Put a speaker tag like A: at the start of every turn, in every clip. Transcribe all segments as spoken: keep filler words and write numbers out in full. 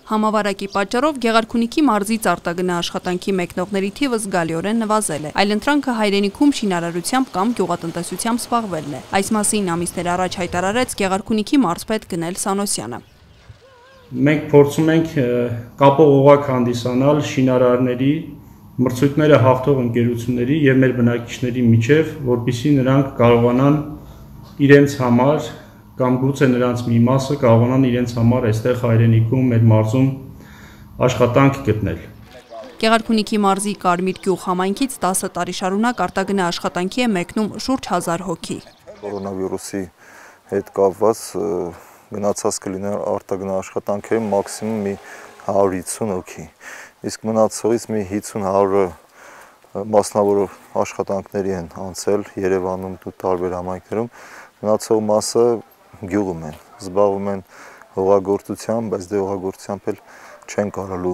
A: Համավարակի պատճառով Գեղարքունիքի մարզից արտագնա աշխատանքի մեկնողների թիվը զգալիորեն նվազել է։ Այլընտրանքը հայրենիքում շինարարությամբ կամ գյուղատնտեսությամբ զբաղվելն է։ Այս մասին ամիսներ առաջ հայտարարեց Գեղարքունիքի մարզպետ Գնել Սանոսյանը։
B: Մենք փորձում ենք կապող օղակ հանդիսանալ շինարարների, մրցույթները հաղթող ընկերությունների եւ մեր բնակիչների միջև, որպեսզի նրանք կարողանան իրենց համար կամ գուցե նրանց մի մասը կարողանան իրենց համար այստեղ հայրենիքում մեր մարզում աշխատանք գտնել։
A: Գեղարքունիքի մարզի Կարմիր գյուղ համայնքից տասը տարի շարունակ արտագնա աշխատանքի է մեկնում շուրջ հազար հոգի։
C: Կորոնավիրուսի հետ կապված գնացած կլիներ արտագնա աշխատանքերի մաքսիմում մի հարյուր հիսուն հոգի, իսկ մնացողից մի հիսուն հարյուրը մասնավոր աշխատանքների են անցել Երևանում ու տարբեր համայնքներում, մնացող մասը գյուղում են, զբաղվում են հողագործությամբ, բայց դե հողագործությամբ էլ չեն կարալու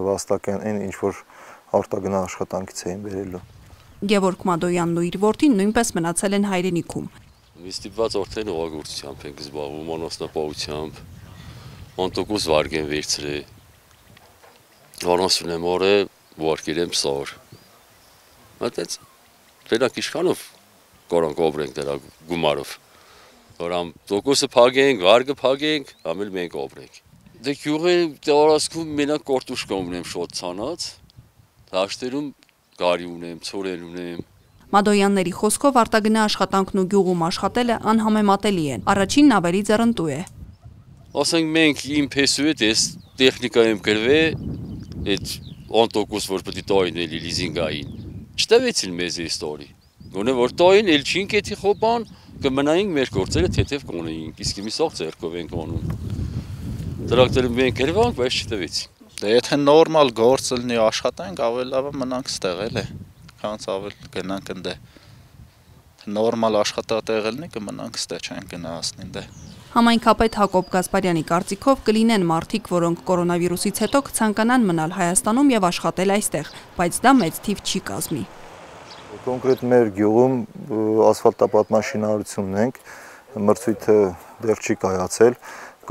C: վաստակեն այն ինչ որ արտագնա աշխատանքից էին բերելու։
A: Գևորգ Մադոյանն ու իր որդին նույնպես մնացել են հայրենիքում։
D: Մի ստիպված արդեն հողագործությամբ ենք զբաղվում, անասնապահությամբ, անտոկոս վարգ են վերցրել, անասուն եմ արել, ուղարկել եմ սար։ Մտեց, դրանք իշխանով կարանք ապրենք դրա գումարով։ Որամ տոկոսը փագենք, վարգը փագենք, ամել մենք ապրենք։ Դե գյուղի տարածքում մենակ կարտոշկա ունեմ շատ ցանած, դաշտերում գարի ունեմ, ցորեն ունեմ։
A: Մադոյանների խոսքով արտագնա աշխատանքն ու գյուղում աշխատելը անհամեմատելի են։ Առաջինն ավելի ձեռնտու է։
D: Ասենք մենք իմ փեսու հետ էս տեխնիկա եմ գրվել, այդ անտոկոս որ պետք է տային էլի լիզինգային։ Չտվեցին մեզ այս տարի։ Գոնե որ տային էլ չինք էթի խոպան, կմնայինք մեր գործերը թեթև կոնեինք, իսկ մի սաղ ձեռքով ենք անում։ Տրակտորը մենք գրվանք, բայց չտվեցին։
E: Դե եթե նորմալ գործ լինի աշխատանք, ավելի լավ է մնանք ստեղ էլ է, քանց ավել գնանք ընդե։ Նորմալ աշխատատեղ լինի կմնանք ստեղ, չեն գնահասնին դե։
A: Համայնքապետ Հակոբ Գասպարյանի կարծիքով կլինեն մարդիկ, որոնք կորոնավիրուսից հետո կցանկանան մնալ Հայաստանում եւ աշխատել այստեղ, բայց դա մեծ թիվ չի կազմի։
C: Կոնկրետ մեր գյուղում ասֆալտապատման շինարարությունն ենք, մրցույթը դեռ չի կայացել,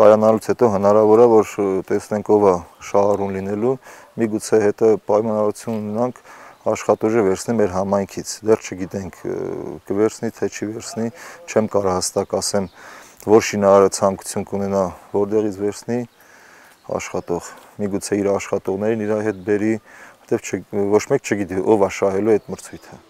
C: կայանալուց հետո հնարավոր է, որ տեսնենք ով է շահառուն լինելու, միգուցե հետո պայմանավորություն ունենանք աշխատուժը վերցնի մեր համայնքից, դեռ չգիտենք կվերցնի, թե չի վերցնի, չեմ կարող հստակ ասեմ, որ շինարարը ցանկություն կունենա, որտեղից վերցնի աշխատող, միգուցե իր աշխատողներին իր հետ բերի, որտեղ ոչ մեկ չգիտի ով է շահելու այդ մրցույթը։